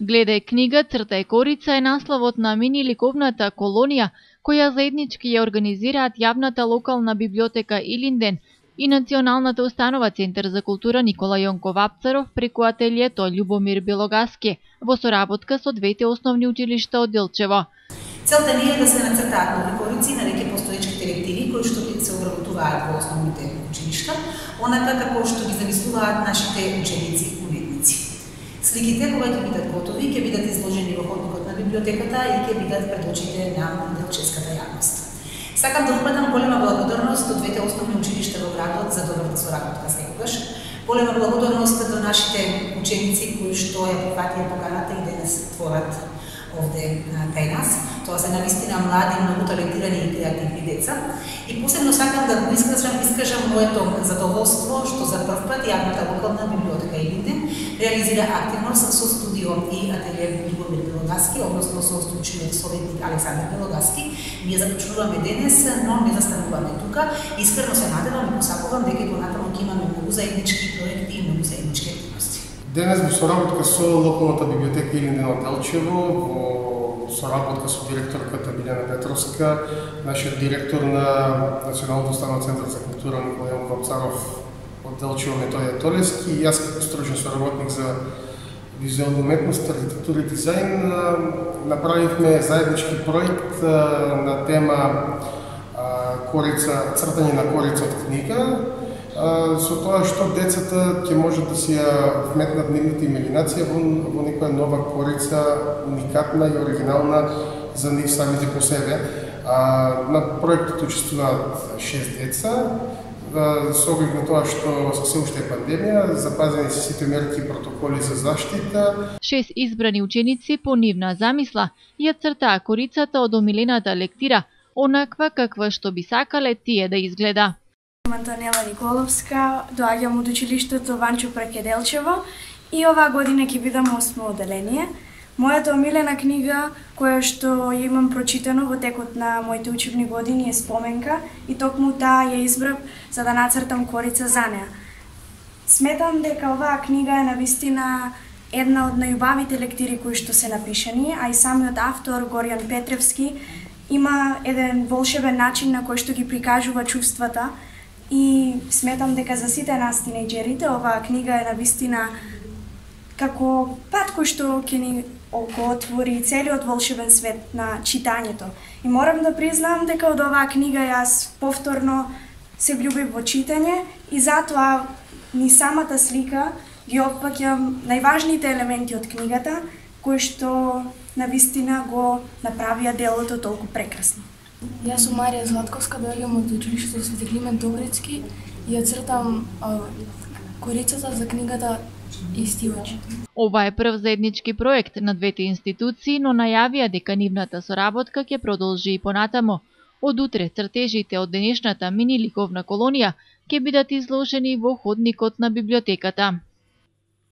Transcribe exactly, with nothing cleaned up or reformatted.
Гледај книга, цртај корица е насловот на мини ликовната колонија, која заеднички ја организираат јавната локална библиотека Илинден и Националната установа Центар за култура Никола Јонков Апцаров преку ателието Љубомир Белогаски во соработка со двете основни училишта од Делчево. Целта ни е да се нацртаат нови корици на веќе постоечките лектири кои што се обработуваат во основните училишта, онака како што ги замислуваат нашите ученици и уметници. Сликите кога ќе бидат готови, ќе бидат изложени во ходникот на библиотеката и ќе бидат пред очите на делчевската јавност. Сакам да упатам голема благодарност до двете основни училишта во градот за добрата соработка секогаш. Голема благодарност до нашите ученици кои што ја прифатија поканата и денес творат овде кај нас. Тоа се навистина млади, многу талентирани и креативни деца. И посебно сакам да го искажам, искажам моето задоволство што за прв пат јавната локална библиотека Илинден реализира активност со студио и ателие Љубомир Белогаски, односно со стручниот советник Александар Белогаски. Ние започнуваме денес, но не застануваме тука. Искрено се надевам и посакувам дека понатаму ќе имаме многу заеднички проекти и многу заеднички активности. Денес во соработка со локалната библиотека Илинден од Делчево, во соработка со директорката Билјана Петровска, нашиот директор на Националната установа Центар за култура Никола Јонков Апцаров од Делчево Методи Толевски и јас како стручен соработник за визуелна уметност, архитектура и дизајн направивме заеднички проект на тема корица, цртање на корица од книга, со тоа што децата ќе можат да си ја вметнат нивната имагинација во, во некоја нова корица, уникатна и оригинална за нив самите по себе. На проектот учествуваат шест деца, со оглед на тоа што се уште е пандемија, запазени се сите мерки и протоколи за заштита. Шест избрани ученици по нивна замисла ја цртаа корицата од омилената лектира, онаква каква што би сакале тие да изгледа. Антонела Николовска, доаѓам од училиштето Ванчо Прекеделчево и оваа година ќе бидам осмо оделение. Мојата омилена книга, која што ја имам прочитано во текот на моите учебни години е Споменка и токму таа ја избрав за да нацртам корица за неа. Сметам дека оваа книга е навистина една од најубавите лектири кои што се напишани, а и самиот автор Горијан Петревски има еден волшебен начин на кој што ги прикажува чувствата и сметам дека за сите нас тинејџерите оваа книга е навистина како пат кој што ќе ни го отвори целиот волшебен свет на читањето. И морам да признам дека од оваа книга јас повторно се влюбив во читање и затоа ни самата слика ги опфаќам најважните елементи од книгата кои што навистина го направија делото толку прекрасно. Јас сум Марија Златковска, доаѓам од училиштето Свети Климент Огрицки и ја цртам а, корицата за книгата Исти очи. Ова е прв заеднички проект на двете институции, но најавија дека нивната соработка ќе продолжи и понатамо. Од утре цртежите од денешната мини ликовна колонија ќе бидат изложени во ходникот на библиотеката.